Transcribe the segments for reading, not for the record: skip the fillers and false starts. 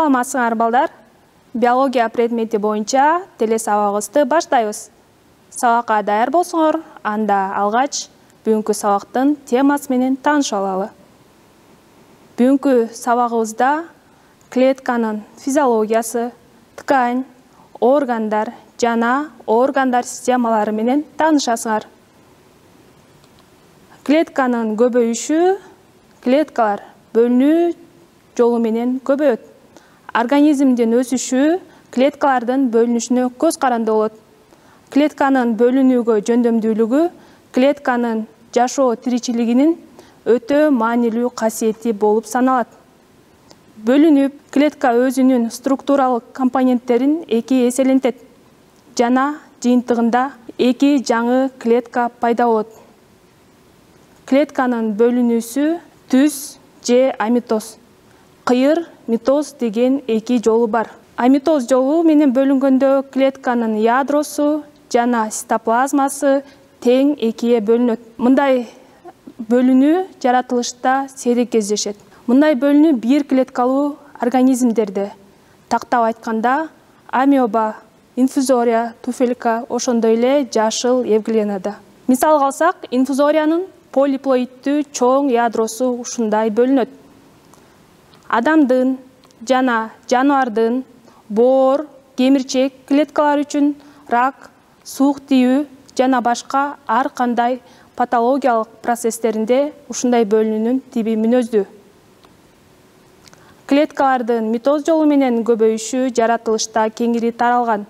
Саламатсыңар балдар. Биология предмети боюнча телесабагыбызды баштайбыз. Сабакка даяр болсоңор, анда алгач бүгүнкү сабактын темасы менен таанышып алалы. Бүгүнкү сабагыбызда клетканын физиологиясы, ткань, органдар жана органдар системалары менен таанышасыңар. Клетканын көбөйүшү клеткалар бөлүнүү жолу менен көбөйөт. Организмдин өсүшү клеткалардын бөлүнүшүнө көз каранды болот. Клетканын бөлүнүүгө жөндөмдүүлүгү клетканын жашоо тиричилигинин өтө маанилүү касиети болуп саналат. Бөлүнүп, клетка өзүнүн структуралык компоненттерин эки эселентет жана жыйынтыгында эки жаңы клетка пайда болот. Клетканын бөлүнүүсү түз же амитоз, кыйыр митоз деген эки жолу бар. Амитоз жолу менен бөлүнгөндө клетканын ядросу жана цитоплазмасы тең экиге бөлүнөт. Мындай бөлүнүү жаратылышта сейрек кездешет. Мындай бөлүнүү бир клеткалуу организмдерде, тактап айтканда амеба, инфузория, туфелька, ошондой эле жашыл евглинада. Мисалга алсак, инфузориянын полиплоидтүү чоң ядросу ушундай бөлүнөт. Адамдын жана жаныбардын боор, кемирчек клеткалары үчүн рак, суук тийүү жана башка ар кандай патологиялык процесстеринде ушундай бөлүнүүнүн тиби мүнөздүү. Клеткалардын митоз жолу менен көбөйүшү жаратылышта кеңири таралган.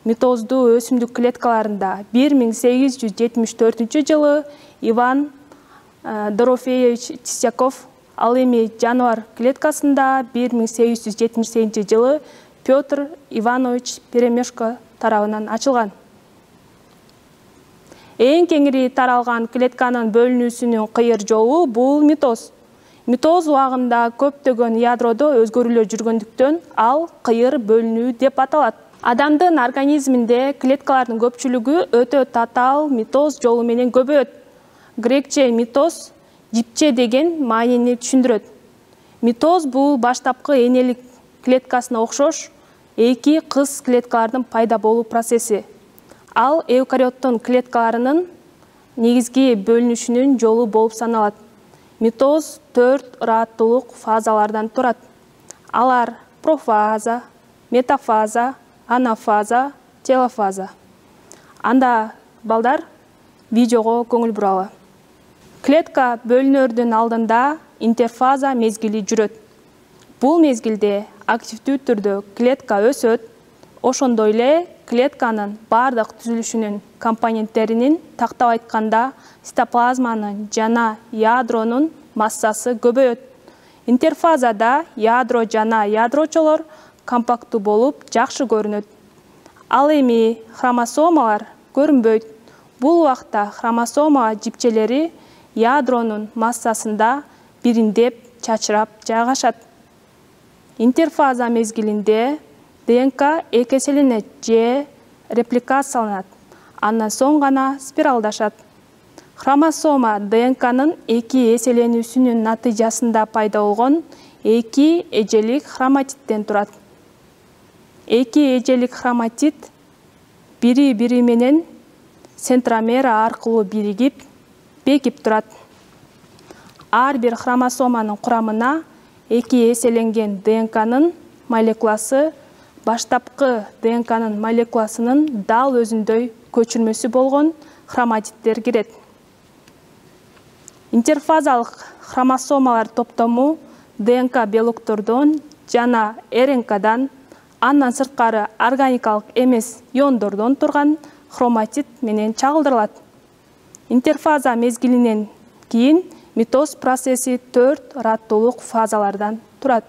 Митоздуу өсүмдүк клеткаларында 1874 жылы Иван Дорофеевич Тисяков, ал эми жаныбар клеткасында 1878 жылы Петр Иванович Перемешко тарабынан ачылган. Эң кеңири таралган клетканын бөлүнүүсүнүн кыйыр жолу бул митоз. Митоз убагында көптөгөн ядродо өзгөрүүлөр жүргөндүктөн ал кыйыр бөлүнүү деп аталат. Адамдын организминде клеткалардын көпчүлүгү өтө татаал митоз жолу менен көбөйөт. Грекче митоз жипче деген маанини түшүндүрөт. Митоз бул баштапкы энелик клеткасына окшош эки кыз клеткалардын пайда болуу процесси. Ал эукариоттун клеткаларынын негизги бөлүнүшүнүн жолу болуп саналат. Митоз 4 ыраттуулук фазалардан турат. Алар профаза, метафаза, анафаза, телофаза. Анда балдар видеого көңүл буралы. Клетка бөлүнөрдүн алдында интерфаза мезгили жүрөт. Бул мезгилде активдүү түрдө клетка өсөт, ошондой эле клетканын бардык түзүлүшүнүн компоненттеринин, тактап айтканда цитоплазманын жана ядронун массасы көбөйөт. Интерфазада ядро жана ядрочолор компактуу болуп жакшы көрүнөт. Ал эми хромосомалар көрүнбөйт. Бул убакта хромосома жипчелери ядронун массасында бириндеп чачырап жайгашат. Интерфаза мезгилинде ДНК экеселенет же репликацияланат. Андан соң гана спиралдашат. Хромосома ДНКнын эки эселенүүсүнүн натыйжасында пайда болгон эки эжелик хроматиттен турат. Эки эжелик хроматит бири-бири менен центромера аркылуу биригип, бекип турат. Ар бир хромосоманын курамына эки эселенген ДНКнын молекуласы баштапкы ДНКнын молекуласынын дал өзүндөй көчүрмөсү болгон хроматиттер кирет. Интерфазалык хромосомалар топтому ДНК белоктордон жана РНКдан, андан сырткары органикалык эмес иондордон турган хроматит менен чагылдырылат. Интерфаза мезгилинен кийин митоз процесси 4 ыраттуулук фазалардан турат.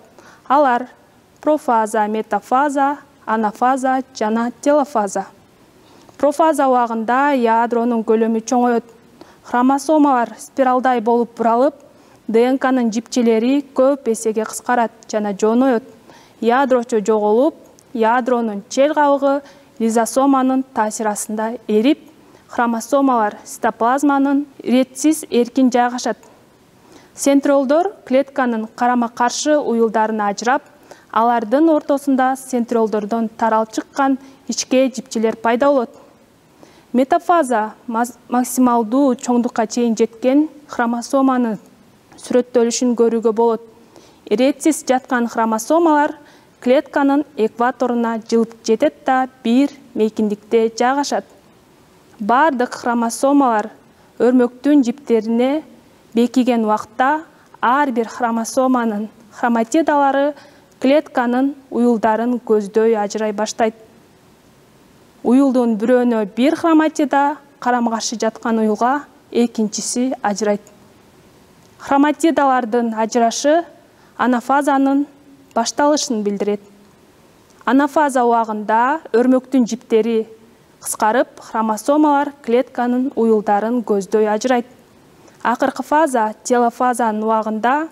Алар профаза, метафаза, анафаза жана телофаза. Профаза убагында ядронун көлөмү чоңойот. Хромосомалар спиралдай болуп буралып, ДНКнын жипчелери көп эсеге кыскарат жана жоноёт. Ядрочо жоголуп, ядронун чел кабыгы лизосоманын таасири астында эрип, хромосомалар цитоплазманын ретсиз эркин жайгашат. Центриолдор клетканын карама-каршы уюлдарына ажырап, Алардын ортосунда центролдордон таралып чыккан ичке жипчелер пайда болот. Метафаза максималдуу чоңдукка чейин жеткен хромосоманын сүрөттөлүшүн көрүүгө болот. Иретсиз жаткан хромосомалар клетканын экваторуна жылып жетет да бир мейкиндикте жайгашат. Бардык хромосомалар өрмөктүн жиптерине бекиген убакта ар бир хромосоманын хроматидалары клетканын уюлдарын көздөй ажырай баштайт. Уюлдун бирөөнө бир хроматида карама-каршы жаткан уюлга экинчиси ажырайт. Хроматидалардын ажырашы анафазанын башталышын билдирет. Анафаза убагында өрмөктүн жиптери кыскарып, хромосомалар клетканын уюлдарын көздөй ажырайт. Акыркы фаза телофазанын убагында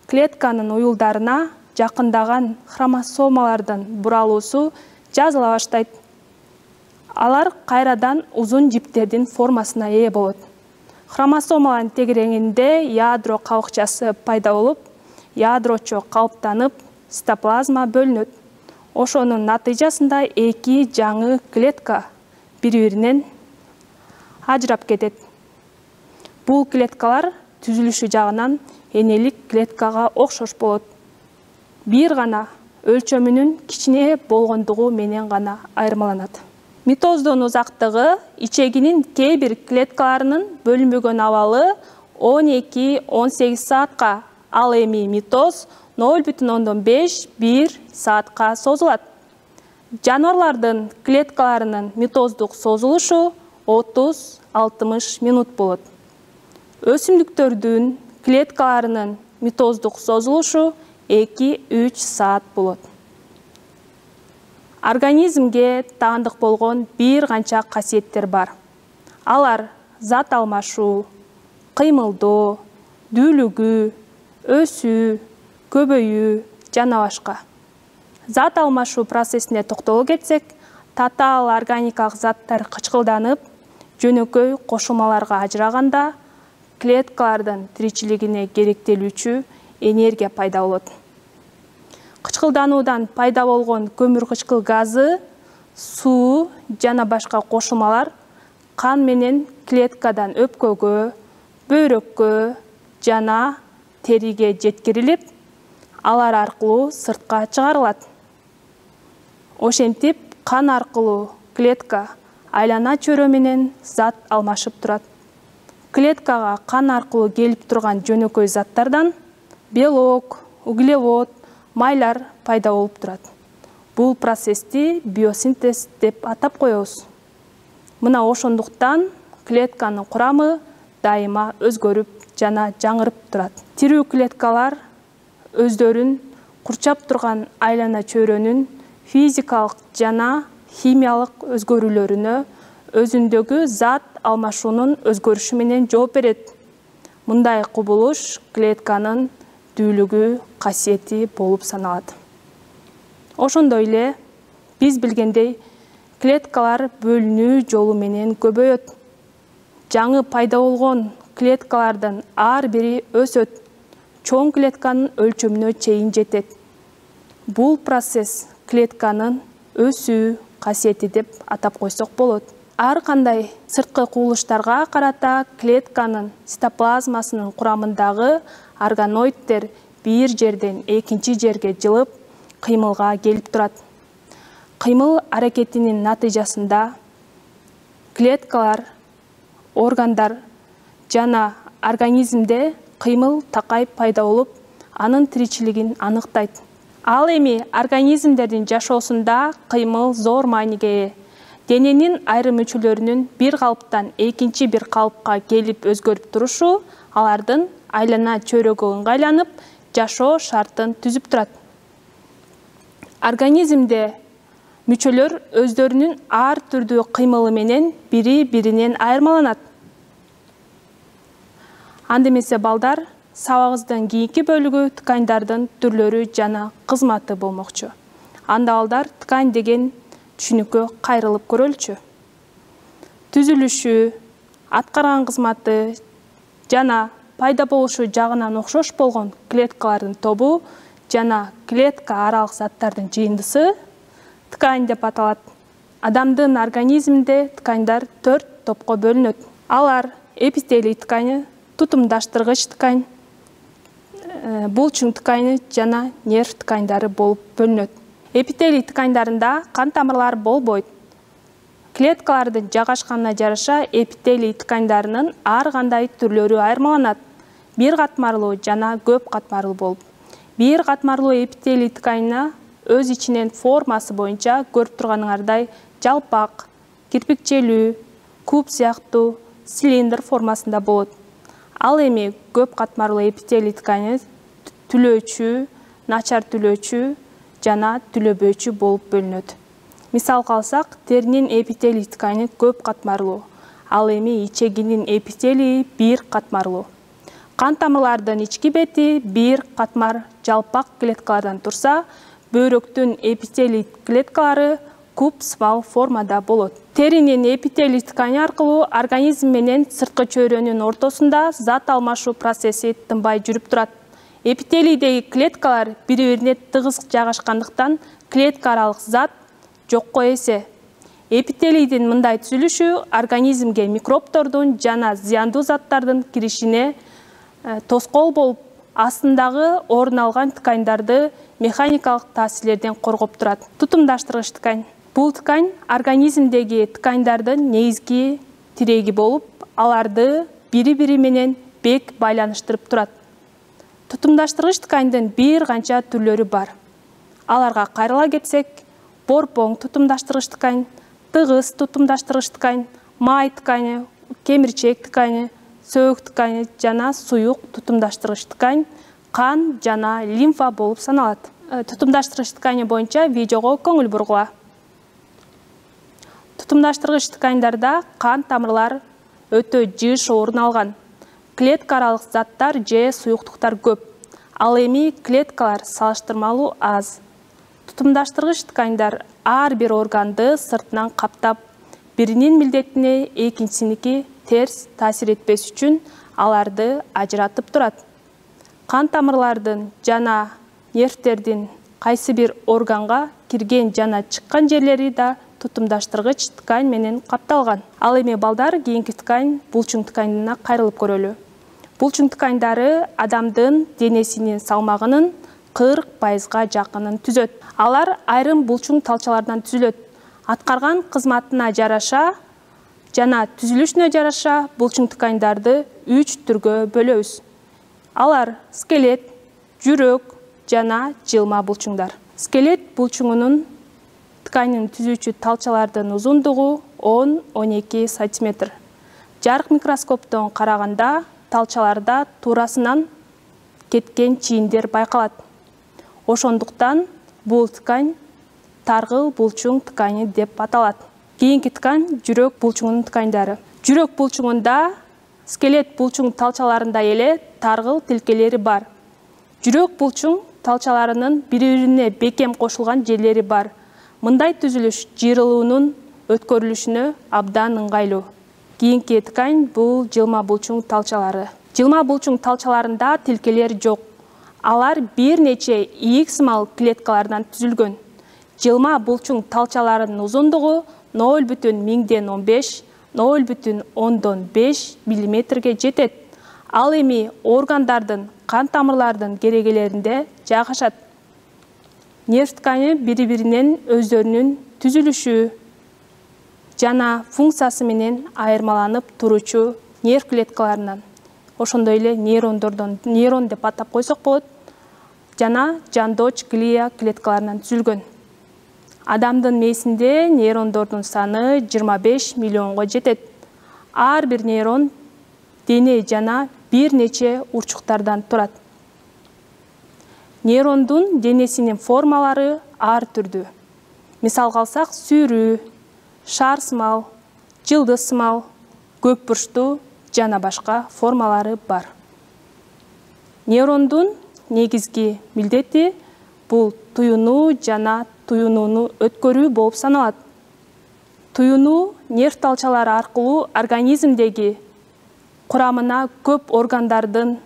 клетканын уюлдарына жакындаган хромосомалардын буралуусу жазыла баштайт. Алар кайрадан узун жиптердин формасына ээ болот. Хромосомалардын тегерегинде ядро кабыкчасы пайда болуп, ядрочо калыптанып, цитоплазма бөлүнөт. Ошонун натыйжасында эки жаңы клетка бири-биринен ажырап кетет. Бул клеткалар түзүлүшү жагынан энелик клеткага окшош болот. Бир гана өлчөмүнүн кичине болгондугу менен гана айырмаланат. Митоздун узактыгы ичегинин кээ бир клеткаларынын бөлүнбөгөн абалы 12-18 саатка, ал эми митоз 0,5-1 саатка созулат. Жаныбарлардын клеткаларынын митоздук созулушу 30-60 минут болот. Өсүмдүктөрдүн клеткаларынын митоздук созулушу 2-3 саат болот. Организмге таандык болгон бир канча касиеттер бар. Алар зат алмашуу, кыймылдоо, дүүлүгүү, өсүү, көбөйүү жана башка. Зат алмашуу процессине токтоло кетсек, татаал органикалык заттар кычкылданып, жөнөкөй кошулмаларга ажыраганда клеткалардын тиричилигине керектелүүчү энергия пайда болот. Кычкылдануудан пайда болгон көмүр кычкыл газы, суу жана башка кошулмалар кан менен клеткадан өпкөгө, бөйрөккө жана териге жеткирилип, алар аркылуу сыртка чыгарылат. Ошентип, кан аркылуу клетка айлана чөйрө менен зат алмашып турат. Клеткага кан аркылуу келип турган жөнөкөй заттардан белок, углевод, майлар пайда болуп турат. Бул процессти биосинтез деп атап коебуз. Мына ошондуктан клетканын курамы дайыма өзгөрүп жана жаңырып турат. Тирүү клеткалар өздөрүн курчап турган айлана чөйрөнүн физикалык жана химиялык өзгөрүүлөрүнө өзүндөгү зат алмашуунун өзгөрүшү менен жооп берет. Мындай кубулуш клетканын дүүлүгү касиети болуп саналат. Ошондой эле биз билгендей, клеткалар бөлүнүү жолу менен көбөйөт. Жаңы пайда болгон клеткалардын ар бири өсөт, чоң клетканын өлчөмүнө чейин жетет. Бул процесс клетканын өсүү касиети деп атап койсок болот. Ар кандай сырткы кубулуштарга карата клетканын цитоплазмасынын курамындагы органоиддер бир жерден экинчи жерге жылып, кыймылга келип турат. Кыймыл аракетинин натыйжасында клеткалар, органдар жана организмде кыймыл такай пайда болуп, анын тиричилигин аныктайт. Ал эми организмдердин жашоосунда кыймыл зор мааниге ээ. Дененин айрым мүчөлөрүнүн бир калыптан экинчи бир калыпка келип өзгөрүп турушу алардын айлана чөйрөгө ыңгайланып, жашоо шартын түзүп турат. Организмде мүчөлөр өздөрүнүн ар түрдүү кыймылы менен бири-биринен айырмаланат. Анда эмесе балдар, сабагыбыздын кийинки бөлүгү ткандардын түрлөрү жана кызматы болмокчу. Анда балдар ткань деген түшүнүккө кайрылып көрөлүчү. Түзүлүшү, аткарган кызматы жана пайда болушу жагынан окшош болгон клеткалардын тобу жана клетка аралык заттардын жыйындысы ткань деп аталат. Адамдын организминде тканьдар 4 топко бөлүнөт. Алар эпителий ткани, тутумдаштыргыч ткань, булчуң ткани жана нерв тканьдары болуп бөлүнөт. Эпителий тканьдарында кан тамырлары болбойт. Клеткалардын жайгашканына жараша эпителий тканьдарынын ар кандай түрлөрү айырмаланат. Бир катмарлуу жана көп катмарлуу болуп. Бир катмарлуу эпителий тканьына өз ичинен формасы боюнча көрүп турганыңардай жалпак, кирпикчелүү, куб сыяктуу, цилиндр формасында болот. Ал эми көп катмарлуу эпителий ткани түлөөчү, начар түлөөчү жана түлөбөөчү болуп бөлүнөт. Мисалга алсак, теринин эпителий ткани көп катмарлуу, ал эми ичегинин эпителии бир катмарлуу. Кан тамырлардын ички бети бир катмар жалпак клеткалардан турса, бөйрөктүн эпителий клеткалары куб сымал формада болот. Теринин эпителий ткани аркылуу организм менен сырткы чөйрөнүн ортосунда зат алмашуу процесси тынбай жүрүп турат. Эпителийдеги клеткалар бири-бирине тыгыз жайгашкандыктан клетка аралык зат жокко эсе. Эпителийдин мындай түзүлүшү организмге микробтордун жана зыяндуу заттардын киришине тоскоол болуп, астындагы орун алган тканьдарды механикалык таасирлерден коргоп турат. Тутумдаштыргыч ткань. Бул ткань организмдеги тканьдардын негизги тиреги болуп, аларды бири-бири менен бек байланыштырып турат. Тутумдаштыргыч тканьдын бир канча түрлөрү бар. Аларга кайрыла кетсек, борпоң тутумдаштыргыч ткань, тыгыз тутумдаштыргыч ткань, май ткани, кемирчек ткани, сөөк ткани жана суюк тутумдаштыргыч ткань, кан жана лимфа болуп саналат. Тутумдаштыргыч ткани боюнча видеого көңүл бургула. Тутумдаштыргыч тканьдарда кан тамырлар өтө жыш орун алган. Клетка аралык заттар же суюктуктар көп. Ал эми клеткалар салыштырмалуу аз. Тутумдаштыргыч тканьдар ар бир органды сыртынан каптап, биринин милдетине экинчисиники терс таасир этпес үчүн аларды ажыратып турат. Кан тамырлардын жана нервтердин кайсы бир органга кирген жана чыккан жерлери да тутумдаштыргыч ткань менен капталган. Ал эми балдар кийинки ткань булчуң тканьына кайрылып көрөлү. Булчуң тканьдары адамдын денесинин салмагынын 40% жакынын түзөт. Алар айрым булчуң талчалардан түзүлөт. Аткарган кызматына жараша жана түзүлүшүнө жараша булчуң тканьдарды 3 түргө бөлөбүз. Алар скелет, жүрөк жана жылма булчуңдар. Скелет булчуңунун тканын түзүүчү талчалардын узундугу 10-12 см. Жарык микроскоптон караганда талчаларда туурасынан кеткен чийиндер байкалат. Ошондуктан бул ткань таргыл булчуң ткани деп аталат. Кийинки ткань жүрөк булчуңунун тканьдары. Жүрөк булчуңунда скелет булчуң талчаларында эле таргыл тилкелери бар. Жүрөк булчуң талчаларынын бири-бирине бекем кошулган жерлери бар. Мындай түзүлүш жыйрылуунун өткөрүлүшүнө абдан ыңгайлуу. Кийинки ткань бул жылма булчуң талчалары. Жылма булчуң талчаларында тилкелер жок. Алар бир нече ийик сымал клеткалардан түзүлгөн. Жылма булчуң талчаларынын узундугу 0,1015 0,5 мм жетет. Ал эми органдардын, кан тамырлардын керегелеринде жайгашат. Нерв ткани бири-биринен өздөрүнүн түзүлүшү жана функциясы менен айырмаланып туручу нерв клеткаларынан, ошондой эле нейрон деп атап койсок болот, жана жандоч глия клеткаларынан түзүлгөн. Адамдын мээсинде нейрондордун саны 25 миллионго жетет. Ар бир нейрон дене жана бир нече урчуктардан турат. Нейрондун денесинин формалары ар түрдүү. Мисалга алсак, сүйрүү, шар сымал, жылдыз сымал, көп бурчтуу жана башка формалары бар. Нейрондун негизги милдети бул туюнуу жана туюнууну өткөрүү болуп саналат. Туюнуу нерв талчалары аркылуу организмдеги курамына көп органдардын,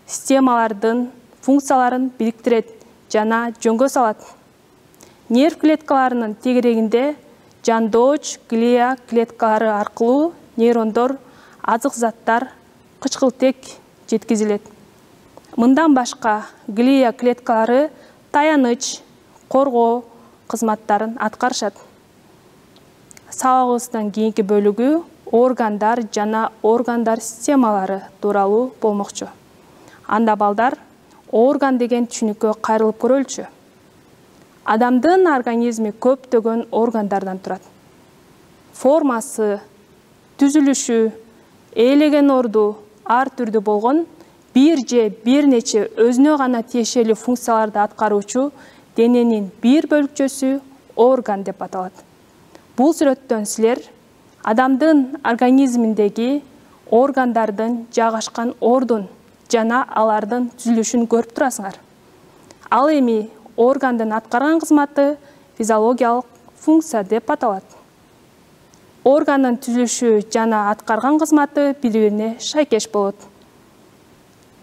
системалардын функцияларын бириктирет жана жөнгө салат. Нерв клеткаларынын тегерегинде жандооч глия клеткалары аркылуу нейрондор, азык заттар, кычкылтек жеткизилет. Мындан башка глия клеткалары таяныч, коргоо кызматтарын аткарышат. Сабагыбыздын кийинки бөлүгү органдар жана органдар системалары тууралуу болмокчу. Анда балдар орган деген түшүнүккө кайрылып көрөлүчү. Адамдын организми көптөгөн органдардан турат. Формасы, түзүлүшү, ээлеген орду ар түрдүү болгон бир же бир нече өзүнө гана тиешелүү функцияларды аткаруучу дененин бир бөлүкчөсү орган деп аталат. Бул сүрөттөн силер адамдын организминдеги органдардын жайгашкан ордун жана алардын түзүлүшүн көрүп турасыңар. Ал эми органдын аткарган кызматы физиологиялык функция деп аталат. Органдын түзүлүшү жана аткарган кызматы бири-бирине шайкеш болот.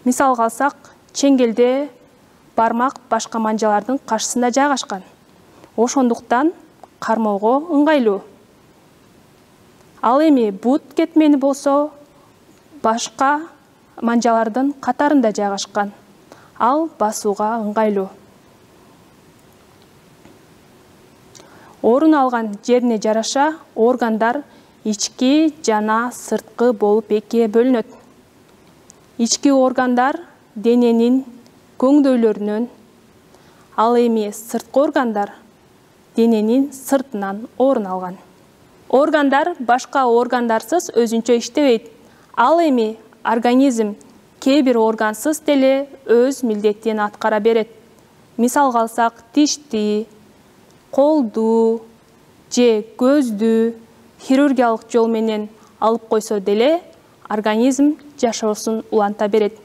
Мисалга алсак, чеңгелде бармак башка манжалардын каршысында жайгашкан. Ошондуктан кармоого ыңгайлуу. Ал эми бут кетмени болсо башка манжалардын катарында жайгашкан. Ал басууга ыңгайлуу. Орун алган жерине жараша органдар ички жана сырткы болуп экиге бөлүнөт. Ички органдар дененин көңдөйлөрүнөн, ал эми сырткы органдар дененин сыртынан орун алган. Органдар башка органдарсыз өзүнчө иштебейт. Ал эми организм кээ бир органсыз деле өз милдетин аткара берет. Мисалга алсак, тишти, колду же көздү хирургиялык жол менен алып койсо деле организм жашоосун уланта берет.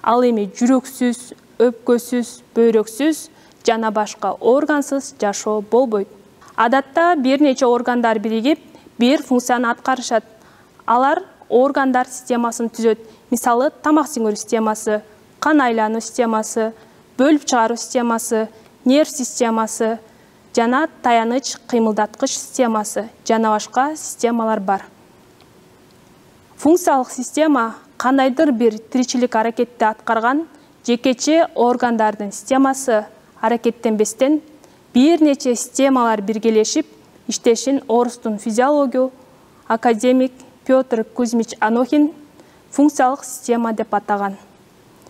Ал эми жүрөксүз, өпкөсүз, бөйрөксүз жана башка органсыз жашоо болбойт. Адатта бир нече органдар биригип бир функцияны аткарышат. Алар органдар системасын түзөт. Мисалы, тамак сиңирүү системасы, кан айлануу системасы, бөлүп чыгаруу системасы, нерв системасы жана таяныч кыймылдаткыч системасы жана башка системалар бар. Функциялык система кандайдыр бир тиричилик аракетти аткарган жекече органдардын системасы аракеттенбестен бир нече системалар биргелешип иштешин орустун физиологу академик Петр Кузьмич Анохин функциялык система деп атаган.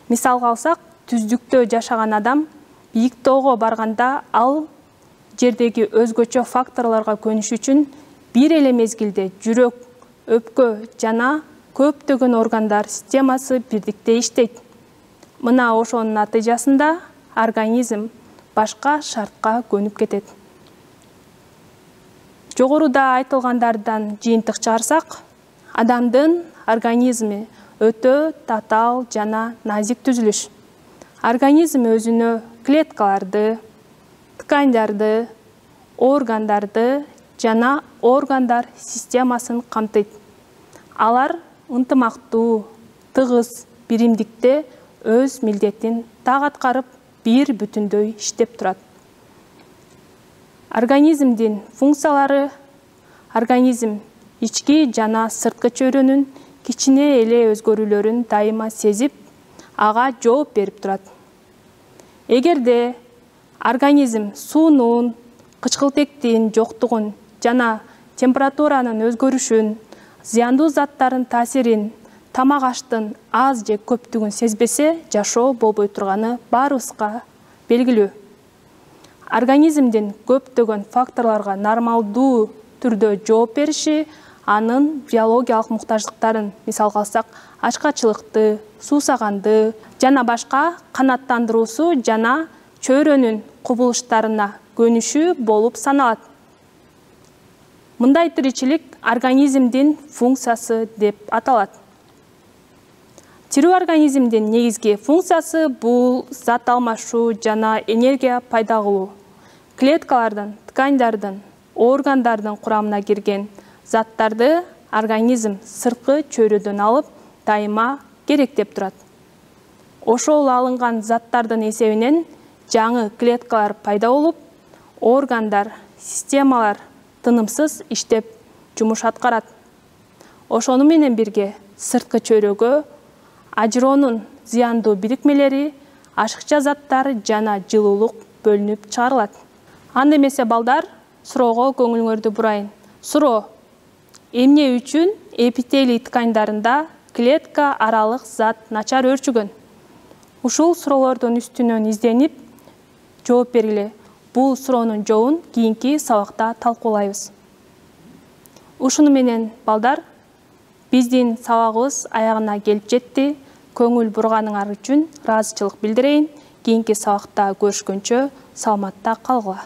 Мисалга алсак, түздүктө жашаган адам бийик тоого барганда ал жердеги өзгөчө факторлорго көнүш үчүн бир эле мезгилде жүрөк, өпкө жана көптөгөн органдар системасы бирдикте иштейт. Мына ошонун натыйжасында организм башка шартка көнүп кетет. Жогоруда айтылгандардан жыйынтык чыгарсак, адамдын организми өтө татаал жана назик түзүлүш. Организм өзүнө клеткаларды, ткандарды, органдарды жана органдар системасын камтыйт. Алар ынтымактуу, тыгыз биримдикте өз милдетин так аткарып, бир бүтүндөй иштеп турат. Организмдин функциялары: организм ички жана сырткы чөйрөнүн кичине эле өзгөрүүлөрүн дайыма сезип, ага жооп берип турат. Эгерде организм суунун, кычкылтектин жоктугун жана температуранын өзгөрүшүн, зыяндуу заттардын таасирин, тамак аштын аз же көптүгүн сезбесе, жашоо болбой турганы баарыбызга белгилүү. Организмдин көптөгөн факторлорго нормалдуу түрдө жооп бериши анын биологиялык муктаждыктарын, мисалга алсак, ачкачылыкты, суусаганды жана башка канааттандыруусу жана чөйрөнүн кубулуштарына көнүшү болуп саналат. Мындай тиричилик организмдин функциясы деп аталат. Тирүү организмдин негизги функциясы бул зат алмашуу жана энергия пайда кылуу. Клеткалардын, ткандардын, органдардын курамына кирген заттарды организм сырткы чөйрөдөн алып, дайыма керектеп турат. Ошол алынган заттардын эсебинен жаңы клеткалар пайда болуп, органдар, системалар тынымсыз иштеп жумуш аткарат. Ошону менен бирге сырткы чөйрөгө ажыроонун зыяндуу бирикмелери, ашыкча заттар жана жылуулук бөлүнүп чыгарылат. Анда эмесе балдар, суроого көңүлүңөрдү бурайын. Суроо: эмне үчүн эпителий тканьдарында клетка аралык зат начар өөрчүгөн? Ушул суроолордун үстүнөн изденип жооп бергиле. Бул суроонун жообун кийинки сабакта талкуулайбыз. Ушуну менен балдар, биздин сабагыбыз аягына келип жетти. Көңүл бурганыңар үчүн ыраазычылык билдирейин. Кийинки сабакта көрүшкөнчө саламатта калгыла.